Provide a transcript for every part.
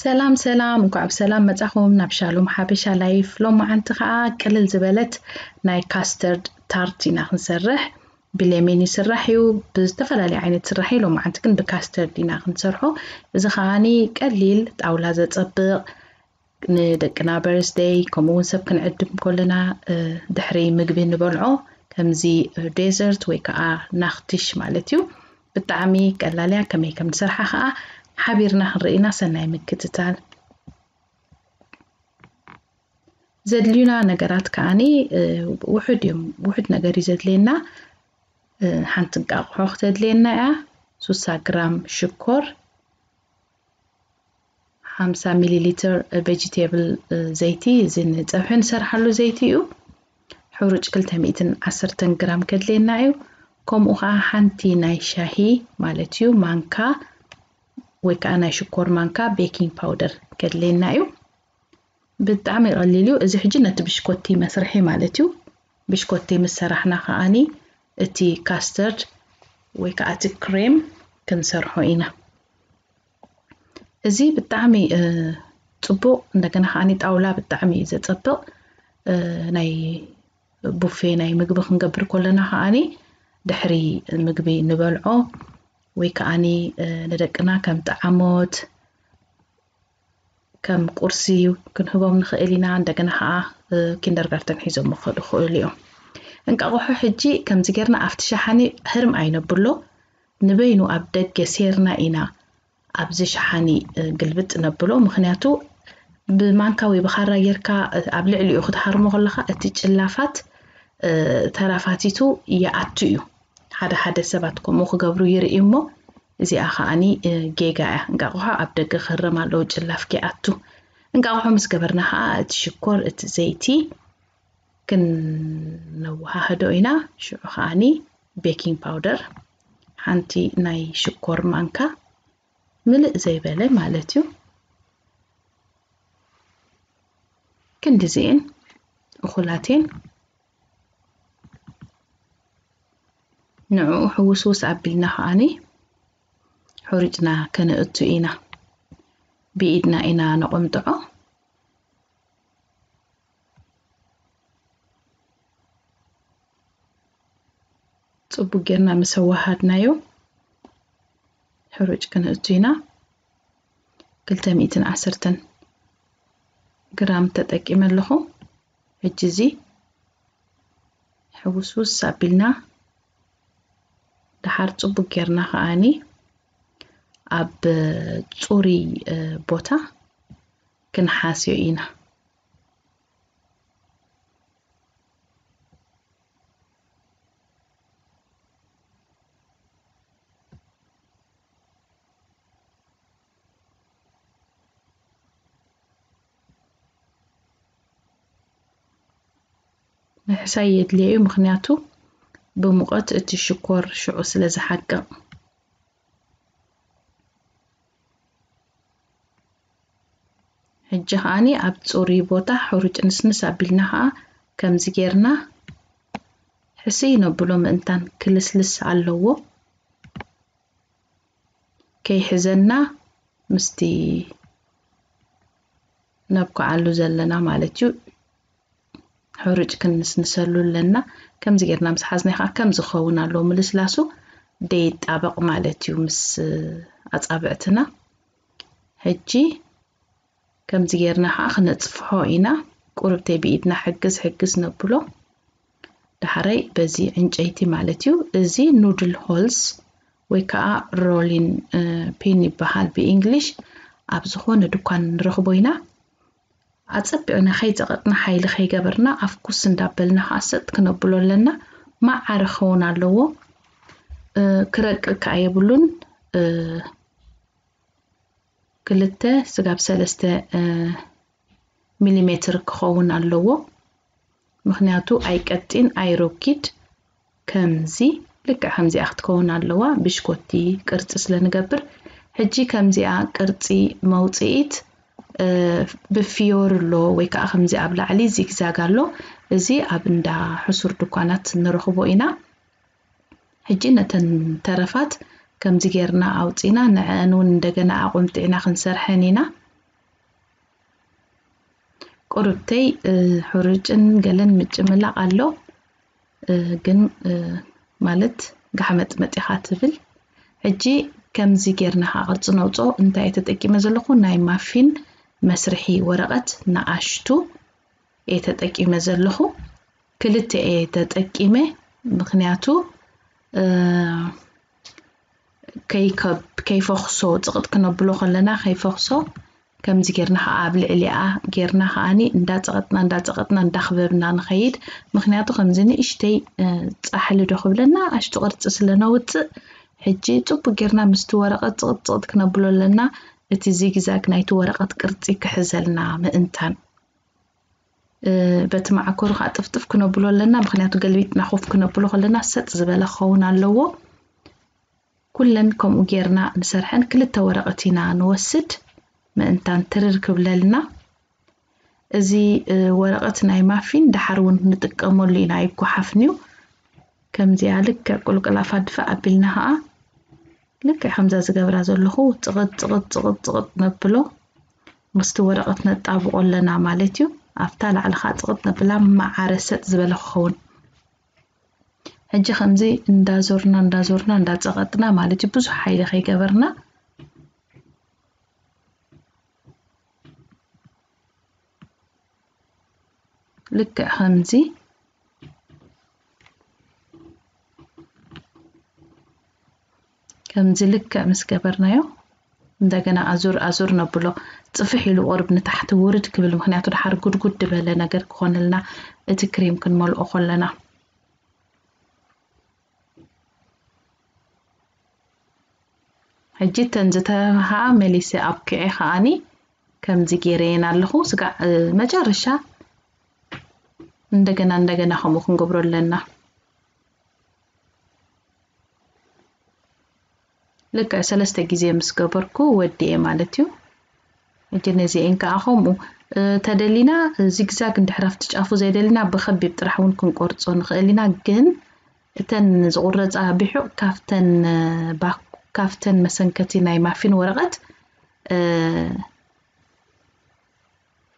ሰላም ሰላም፣ እንኳዕ ብሰላም መጻኹም ናብ ሻሎም ሓበሻ ላይፍ። ሎማዓንቲ ኸኣ ቅልል ዝበለት ናይ ካስተርድ ታርት ኢና ክንሰርሕ። ብሌሜን ይስራሕ እዩ፣ ብዝተፈላለየ ዓይነት ስራሕ እዩ። ሎማዓንቲ ግን ብካስተርድ ኢና ክንሰርሖ። እዚ ኸኣኒ ቀሊል ጣውላ ዘጸብቕ፣ ንደቅና በርስደይ ከምኡ እውን ሰብ ክንዕድም ከለና ድሕሪ ምግቢ ንበልዖ ከምዚ ዴዘርት ወይ ከዓ ናኽትሽ ማለት እዩ። ብጣዕሚ ቀላል እያ። ከመይ ከም ንሰርሓ ከዓ ሓቢርና ክንርኢ ኢና። ሰናይ ምክትታል። ዘድልዩና ነገራት ከዓኒ ውሑድ እዮም። ውሑድ ነገር እዩ ዘድልየና። ሓንቲ እንቃቑሖ ክተድልየና እያ። ሱሳ ግራም ሽኮር፣ ሓምሳ ሚሊ ሊትር ቬጂቴብል ዘይቲ፣ እዚ ንፀብሒ ንሰርሓሉ ዘይቲ እዩ። ሕሩጭ ክልተ ሚእትን ዓሰርተን ግራም ከድልየና እዩ። ከምኡ ከዓ ሓንቲ ናይ ሻሂ ማለት እዩ ማንካ ወይ ከዓ ናይ ሽኮር ማንካ ቤኪንግ ፓውደር ከድልየና እዩ። ብጣዕሚ ቀሊል እዩ። እዚ ሕጂ ነቲ ብሽኮቲ መስርሒ ማለት እዩ። ብሽኮቲ ምስ ሰራሕና ከዓኒ እቲ ካስተርድ ወይ ከዓ እቲ ክሬም ክንሰርሖ ኢና። እዚ ብጣዕሚ ጽቡቕ፣ እንደገና ከዓኒ ጣውላ ብጣዕሚ እዩ ዘጸብቕ። ናይ ቡፌ ናይ ምግቢ ክንገብር ከለና ከዓኒ ድሕሪ ምግቢ ንበልዖ ወይ ከዓኒ ንደቅና ከም ጠዓሞት ከም ቁርሲ ክንህቦም ንኽእል ኢና። እንደገና ከዓ ኪንደርጋርተን ሒዞም ክኸዱ ይኽእሉ እዮም። እንቃቑሖ ሕጂ ከምዚ ጌርና ኣብቲ ሸሓኒ ህርም ኣይነብሎ፣ ንበይኑ ኣብ ደገ ሴርና ኢና ኣብዚ ሸሓኒ ግልብጥ ነብሎ። ምኽንያቱ ብማንካ ወይ ብኻራ ጌርካ ኣብ ልዕሊኡ ክትሃርሞ ከለኻ እቲ ጭላፋት ተራፋቲቱ ይኣቱ እዩ። ሓደ ሓደ ሰባት ከምኡ ክገብሩ ይርኢ እሞ እዚኣ ከዓኒ ጌጋ እያ። እንቃቑሖ ኣብ ደገ ክህረም ኣለዎ ጭላፍ ከይኣቱ። እንቃቑሖ ምስ ገበርና ከዓ እቲ ሽኮር፣ እቲ ዘይቲ ክነወሃህዶ ኢና። ሽዑ ከዓኒ ቤኪንግ ፓውደር ሓንቲ ናይ ሽኮር ማንካ ምልእ ዘይበለ ማለት እዩ። ክንድዚኤን እኹላቴን ንዕኡ ሕውስውስ ኣቢልና ከዓኒ ሕሩጭና ከነእቱ ኢና። ብኢድና ኢና ነቆምጥዖ። ጽቡቅ ጌርና ምስ ኣወሃድናዮ ሕሩጭ ክነእቱ ኢና። ክልተ ሚእትን ዓሰርተን ግራም ተጠቂመ ኣለኹ። ሕጂ እዚ ሕውስውስ ኣቢልና ደሓር ጽቡቅ ጌርና ከዓኒ ኣብ ጽሩይ ቦታ ክንሓስዮ ኢና። ምሕሳይ የድልዮ እዩ፣ ምኽንያቱ ብሙቐት እቲ ሽኮር ሽዑ ስለ ዝሓቅቕ። ሕጂ ከዓኒ ኣብ ጽሩይ ቦታ ሕሩጭ ንስንስ ኣቢልና ከኣ ከምዚ ጌርና ሕስይ ነብሎ፣ ምእንታን ክልስልስ ኣለዎ። ከይሕዘና ምስቲ ነብኩዓሉ ዘለና ማለት እዩ። ሕሩጭ ክንስንሰሉ ኣለና። ከምዚ ጌርና ምስ ሓዝናዮ ከዓ ከም ዝኸውን ኣለዎ፣ ምልስላሱ ደይጣበቕ ማለት እዩ ምስ ኣጻብዕትና። ሕጂ ከምዚ ጌርና ከዓ ክነጽፍሖ ኢና። ቁርብተይ ብኢድና ሕግዝ ሕግዝ ነብሎ። ዳሕራይ በዚ ዕንጨይቲ ማለት እዩ። እዚ ኑድል ሆልስ ወይ ከዓ ሮሊን ፒን ይበሃል ብእንግሊሽ። ኣብ ዝኾነ ድኳን ንረኽቦ ኢና። ኣጸቢቕና ከይጸቐጥና ሓይሊ ከይገበርና ኣፍኩስ እንዳበልና ከዓ ሰጥ ክነብሎ ኣለና። ማዓረ ክኸውን ኣለዎ። ክረቅቅ ከዓ የብሉን። ክልተ ስጋብ ሰለስተ ሚሊሜትር ክኸውን ኣለዎ። ምኽንያቱ ኣይቀጢን ኣይሮኪድ፣ ከምዚ ልክዕ ከምዚኣ ክትከውን ኣለዋ። ብሽኮቲ ቅርጺ ስለ ንገብር ሕጂ ከምዚኣ ቅርጺ መውጽኢት ብፊዮር ኣሎ ወይ ከዓ ከምዚ ኣብ ላዕሊ ዚግዛግ ኣሎ። እዚ ኣብ እንዳ ሕሱር ድኳናት ንረኽቦ ኢና። ሕጂ ነተን ተረፋት ከምዚ ጌርና ኣውጺና ንዐአን እውን እንደገና ኣቆምጢዕና ክንሰርሐን ኢና። ቁርብተይ፣ እ፣ ሕሩጭን ገለን ምጭምላቕ ኣሎ። እ፣ ግን፣ እ፣ ማለት ጋሕመጥመጥ ኢኻ ትብል። ሕጂ ከምዚ ጌርና ከዓ ቅርጺ ነውጾ። እንታይ እየ ተጠቂመ ዘለኹ? ናይ ማፊን መስርሒ ወረቐት ንኣሽቱ እየ ተጠቂመ ዘለኹ። ክልተ እየ ተጠቂመ፣ ምኽንያቱ፣ እ፣ ከይከብ-፣ ከይፈኽሶ፣ ጽቕጥ ክነብሎ ከለና ከይፈኽሶ፣ ከምዚ ጌርና ኸዓ ኣብ ልዕሊኣ ጌርና ኸዓኒ እንዳጸቐጥና፣ እንዳጸቐጥና፣ እንዳኽበብና ንኸይድ። ምኽንያቱ ከምዚ ንእሽተይ፣ እ፣ ጻሕሊ ዶ ክብለና፣ ኣሽቱ ቅርጺ ስለ ነውጽእ፣ ሕጂ ጽቡቅ ጌርና ምስቲ ወረቐት ጽቕጥ ጽቕጥ ክነብሎ ኣለና፣ እቲ ዚግዛግ ናይቲ ወረቐት ቅርጺ ክሕዘልና ምእንታን። እ፣ በቲ መዓኮሩ ኸዓ ጥፍጥፍ ክነብሎ ኣለና፣ ምኽንያቱ ገልቢጥና ኮፍ ክነብሎ ከለና ሰጥ ዝበለ ክኸውን ኣለዎ። ኩለን ከምኡ ጌርና ንሰርሐን ክልተ ወረቐት ኢና ንወስድ፣ ምእንታን ትርር ክብለልና። እዚ፣ እ፣ ወረቐት ናይ ማፊን ደሓር እውን ንጥቀመሉ ኢና፣ ኣይጓሓፍን እዩ። ከምዚኣ ልክዕ ቁልቁል ኣፋ ድፋእ ኣቢልና ኸዓ ልክዕ ከምዛ ዝገብራ ዘለኹ ጽቕጥ፣ ጽቕጥ፣ ጽቕጥ፣ ጽቕጥ ነብሎ። ምስቲ ወረቐት ነጣብቆ ኣለና ማለት እዩ። ኣብታ ላዕሊ ኸዓ ጽቕጥ ነብላ፣ ማዓረ ሰጥ ዝበለ ክኸውን። ሕጂ ከምዚ እንዳዞርና፣ እንዳዞርና፣ እንዳጸቐጥና ማለት እዩ፣ ብዙሕ ሓይሊ ከይገበርና። ልክዕ ከምዚ፣ ከምዚ ልክዕ ምስ ገበርናዮ፣ እንደገና ኣዙር ኣዙር ነብሎ። ጽፍሕ ኢሉ ቁሩብ ንታሕቲ ውርድ ክብል፣ ምኽንያቱ ደሓር ጉድጉድ ዝበለ ነገር ክኾነልና፣ እቲ ክሬም ክንመልኦ ከለና። ሕጂ እተን ዝተበሃኣ መሊሰ ኣብኪዐ ከኣኒ ከምዚ ገይረየን ኣለኹ። ስጋዕ፣ እ፣ መጨረሻ እንደገና፣ እንደገና ከምኡ ክንገብሮ ኣለና። ልክዕ ሰለስተ ግዜ ምስ ገበርኩ ወዲኤ ማለት እዩ። ሕጂ ነዚኤን ከኣ ከምኡ፣ እ፣ ተደሊና ዚግዛግ እንድሕር ኣብቲ ጫፉ ዘይደሊና ብኸቢብ ጥራሕ እውን ክንቆርጾ ንኽእል ኢና። ግን እተን ዝቑረጻ ብሑቕ ካብተን፣ እ፣ ባክ-፣ ካብተን መሰንከቲ ናይ ማፊን ወረቐት፣ እ፣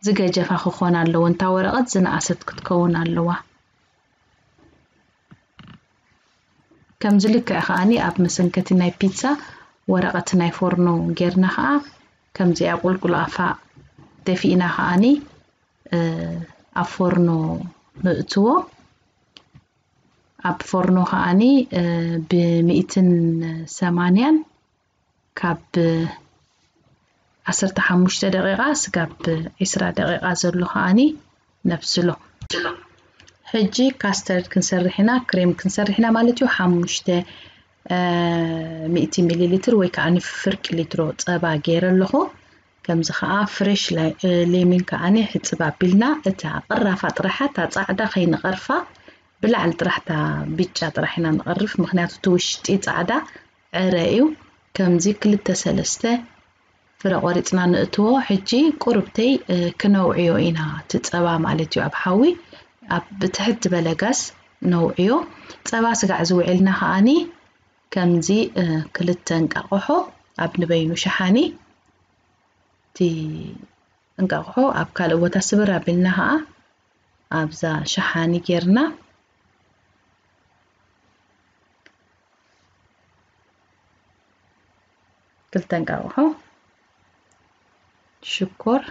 ዝገጀፋ ክኾና ኣለወን። እታ ወረቐት ዝነኣሰት ክትከውን ኣለዋ። ከምዚ ልክዕ ከኣኒ ኣብ መሰንከቲ ናይ ፒዛ ወረቐት ናይ ፎርኖ ጌርና ከኣ ከምዚኣ ቁልቁል ኣፋ ደፊእና ከኣኒ፣ እ፣ ኣብ ፎርኖ ንእትዎ። ኣብ ፎርኖ ከኣኒ፣ እ፣ ብሚእትን ሰማንያን ካብ ዓሰርተ ሓሙሽተ ደቂቓ ስጋብ ዒስራ ደቂቓ ዘሎ ከኣኒ ነብስሎ። ሕጂ ካስተርድ ክንሰርሕ ኢና፣ ክሬም ክንሰርሕ ኢና ማለት እዩ። ሓሙሽተ፣ እ፣ ሚእቲ ሚሊ ሊትር ወይ ከኣ ፍርቂ ሊትሮ ጸባ ገይረ ኣለኹ። ከምዚ ከኣ ፍሬሽ ለ-፣ እ፣ ሌሚን ከኣኒ ሕጽብ ኣቢልና እታ ቅራፋ ጥራሓ፣ እታ ጻዕዳ ከይንቐርፋ፣ ብላዕሊ ጥራሕ እታ ብጫ ጥራሕ ኢና ንቐርፍ፣ ምኽንያቱ እቲ ውሽጢ ጻዕዳ ዕረ እዩ። ከምዚ ክልተ ሰለስተ ፍረ ቆሪጽና ንእትዎ። ሕጂ ቁርብተይ፣ እ፣ ክነውዕዮ ኢና፣ እቲ ጸባ ማለት እዩ፣ ኣብ ሓዊ ኣብ ትሕት ዝበለ ጋስ ነውዕዮ። ጸባ ስጋዕ ዝውዕልና ከኣኒ ከምዚ፣ እ፣ ክልተ እንቃቆሖ ኣብ ንበይኑ ሸሓኒ፣ እቲ እንቃቆሖ ኣብ ካልእ ቦታ ስብር ኣቢልና ከኣ ኣብዛ ሸሓኒ ጌርና ክልተ እንቃቆሖ ሽኮር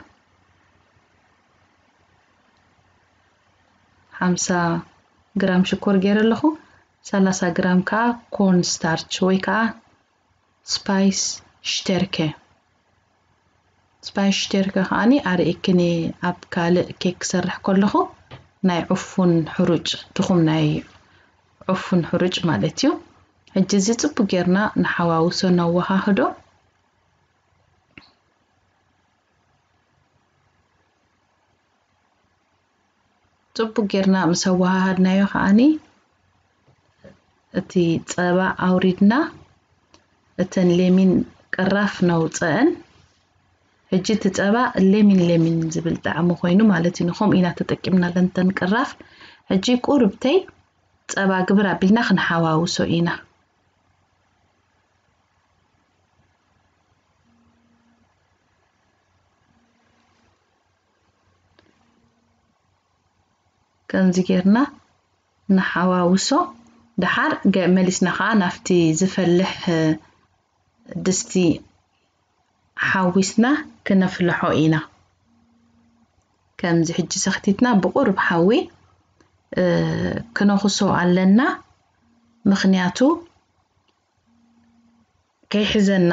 ሓምሳ ግራም ሽኮር ገይረ ኣለኹ። ሰላሳ ግራም ከኣ ኮርን ስታርች ወይ ከኣ ስፓይስ ሽተርከ። ስፓይስ ሽተርከ ከኣኒ ኣርእየክኒ ኣብ ካልእ ኬክ ክሰርሕ ከለኹ ናይ ዕፉን ሕሩጭ፣ ትኹም ናይ ዕፉን ሕሩጭ ማለት እዩ። ሕጂ እዚ ጽቡቅ ጌርና ንሓዋውሶ ነወሃህዶ። ጽቡቅ ጌርና ምስ ኣወሃሃድናዮ ከኣኒ እቲ ጸባ ኣውሪድና እተን ሌሚን ቅራፍ ነውጸአን። ሕጂ እቲ ጸባ ሌሚን ሌሚን ዝብል ጣዕሚ ኮይኑ ማለት እዩ። ንኸምኡ ኢና ተጠቂምናለን እተን ቅራፍ። ሕጂ ቁርብተይ ጸባ ግብር ኣቢልና ክንሓዋውሶ ኢና። ከምዚ ጌርና ንሓዋውሶ። ደሓር ገ- መሊስና ከዓ ናብቲ ዝፈልሕ ድስቲ ሓዊስና ክነፍልሖ ኢና። ከምዚ ሕጂ ሰኽቲትና ብቑሩብ ሓዊ ክነኹሶ ኣለና። ምኽንያቱ ከይሕዘና፣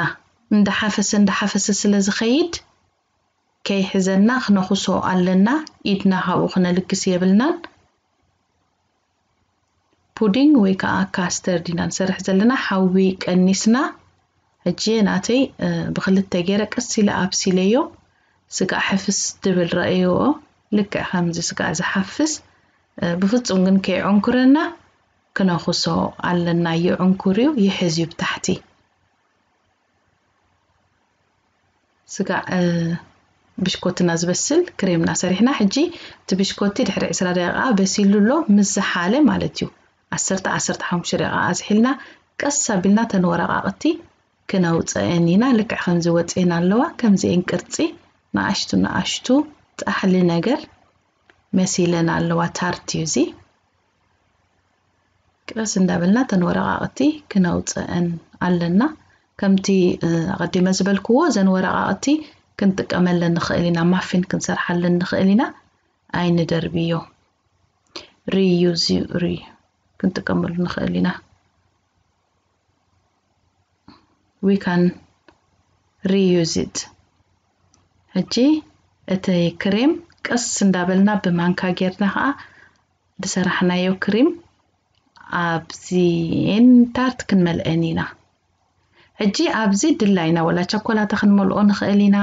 እንዳሓፈሰ እንዳሓፈሰ ስለ ዝኸይድ ከይሕዘና ክነኹሶ ኣለና። ኢድና ካብኡ ክነልግስ የብልናን። ፑዲንግ ወይ ከዓ ካስተርድ ኢና ንሰርሕ ዘለና። ሓዊ ቀኒስና። ሕጂ ናተይ ብክልተ ገይረ ቀስ ኢለ ኣብሲለዮ። ስጋዕ ሕፍስ ድብል ረእይዎ። ልክዕ ከምዚ ስጋዕ ዝሓፍስ፣ ብፍጹም ግን ከይዕንኩረና ክነኹሶ ኣለና። ይዕንኩር እዩ፣ ይሕዝ እዩ ብታሕቲ። ስጋዕ ብሽኮትና ዝበስል ክሬምና ሰሪሕና። ሕጂ እቲ ብሽኮቲ ድሕሪ ዕስራ ደቂቃ በሲሉ ኣሎ፣ ምስ ዝሓለ ማለት እዩ። ዓሰርተ፣ ዓሰርተ ሓሙሽተ ደቂቃ ኣዝሒልና ቀስ ኣቢልና ተን ወረቃቅቲ ክነውፀአን ኢና። ልክዕ ከምዚ ወፅኤን ኣለዋ፣ ከምዚኤን ቅርፂ ንኣሽቱ ንኣሽቱ ጣሕሊ ነገር መሲለን ኣለዋ። ታርት እዩ እዚ። ቀስ እንዳበልና ተን ወረቃቅቲ ክነውፀአን ኣለና። ከምቲ ኣቐዲመ ዝበልክዎ እዘን ወረቃቅቲ ክንጥቀመለን ንኽእል ኢና፣ ማፊን ክንሰርሓለን ንኽእል ኢና። ኣይንደርብዮ። ሪዩዝ ሪ ክንጥቀመሉ ንኽእል ኢና። We can reuse it። ሕጂ እቲ ክሬም ቀስ እንዳበልና ብማንካ ጌርና ከዓ ዝሰራሕናዮ ክሬም ኣብዚኤን ታርት ክንመልአን ኢና። ሕጂ ኣብዚ ድላይና ወላ ቸኮላታ ክንመልኦ ንኽእል ኢና።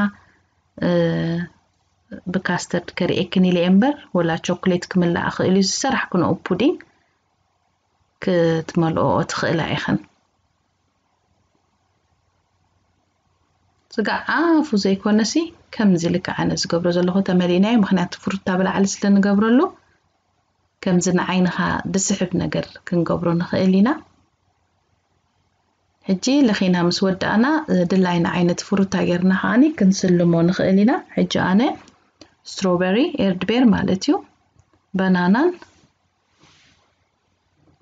ብካስተርድ ከርእየክን ኢለ እምበር ወላ ቸኮሌት ክምላእ ክእል እዩ። ዝሰራሕክንኦ ፑዲንግ ክትመልኦ ትኽእላ ኢኽን። ስጋዕ ኣፉ ዘይኮነሲ ከምዚ ልክዕ ኣነ ዝገብሮ ዘለኹ ተመሊእናዮ። ምኽንያቱ ፍሩታ ብላዕሊ ስለ ንገብረሉ ከምዚ ንዓይንኻ ዝስሕብ ነገር ክንገብሮ ንኽእል ኢና። ሕጂ ለኺና ምስ ወዳእና ድላይና ዓይነት ፍሩታ ጌርና ከዓኒ ክንስልሞ ንኽእል ኢና። ሕጂ ኣነ ስትሮበሪ፣ ኤርድቤር ማለት እዩ፣ በናናን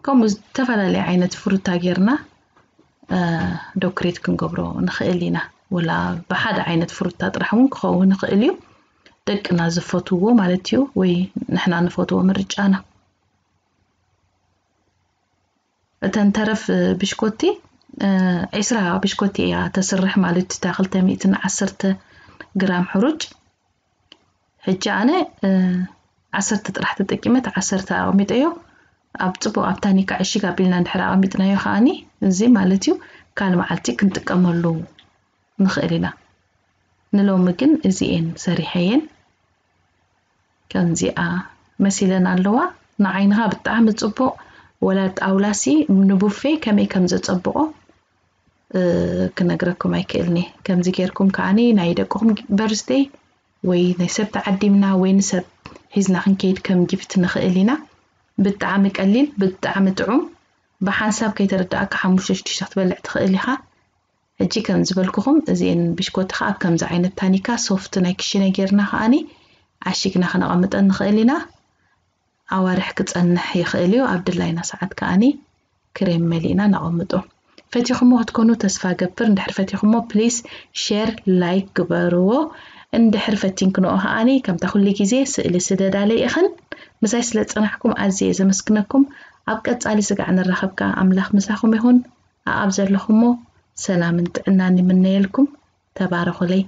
ከምኡ ዝተፈላለየ ዓይነት ፍሩታ ጌርና ዶክሬት ክንገብሮ ንኽእል ኢና። ወላ ብሓደ ዓይነት ፍሩታ ጥራሕ እውን ክኸውን ይኽእል እዩ፣ ደቅና ዝፈትዎ ማለት እዩ፣ ወይ ንሕና ንፈትዎ ምርጫና። እተን ተረፍ ብሽኮቲ ዕስራ ብሽኮቲ እያ ተስርሕ ማለት እዩ። እታ ክልተ ሚእትን ዓሰርተ ግራም ሕሩጭ። ሕጂ ኣነ ዓሰርተ ጥራሕ ተጠቂመ፣ ዓሰርተ ኣቐሚጠዮ። ኣብ ጽቡቕ ኣብ ታኒካ ዕሽግ ኣቢልና እንድሕር ኣቐሚጥናዮ ከኣኒ እዚ ማለት እዩ ካል መዓልቲ ክንጥቀመሉ ንኽእል ኢና። ንሎሚ ግን እዚኤን ሰሪሐየን። ከምዚኣ መሲለን ኣለዋ። ንዓይንኻ ብጣዕሚ ጽቡቕ፣ ወላ ጣውላሲ ንቡፌ ከመይ ከም ዘጸብቖ ክነግረኩም ኣይክእልኒ። ከምዚ ጌርኩም ከዓኒ ናይ ደቅኹም በርስደይ ወይ ናይ ሰብ ተዓዲምና ወይ ንሰብ ሒዝና ክንከይድ ከም ጊፍት ንኽእል ኢና። ብጣዕሚ ቀሊል፣ ብጣዕሚ ጥዑም። ብሓንሳብ ከይተረዳእካ ሓሙሽተ ሽዱሽተ ክትበልዕ ትኽእል ኢኻ። ሕጂ ከም ዝበልኩኹም እዚኤን ብሽኮቲ ከዓ ኣብ ከምዚ ዓይነት ታኒካ ሶፍት ናይ ክሽነ ጌርና ከዓኒ ዓሺግና ክነቐምጠን ንኽእል ኢና። ኣዋርሕ ክጸንሕ ይኽእል እዩ። ኣብ ድላይና ሰዓት ከዓኒ ክሬም መሊእና ነቐምጦ። ፈቲኹሞ ክትኮኑ ተስፋ ገብር። እንድሕር ፈቲኹሞ ፕሊስ ሼር ላይክ ግበርዎ። እንድሕር ፈቲንክንኦ ከዓኒ ከምታ ኩሉ ግዜ ስእሊ ስደዳለይ ኢኽን። ምሳይ ስለ ዝጸናሕኩም ኣዝየ ዘመስግነኩም። ኣብ ቀጻሊ ስጋዕ ንራኸብ ከኣ ኣምላኽ ምሳኹም ይኹን። ኣኣብ ዘለኹሞ ሰላምን ጥዕናን ይምነየልኩም። ተባረኹለይ።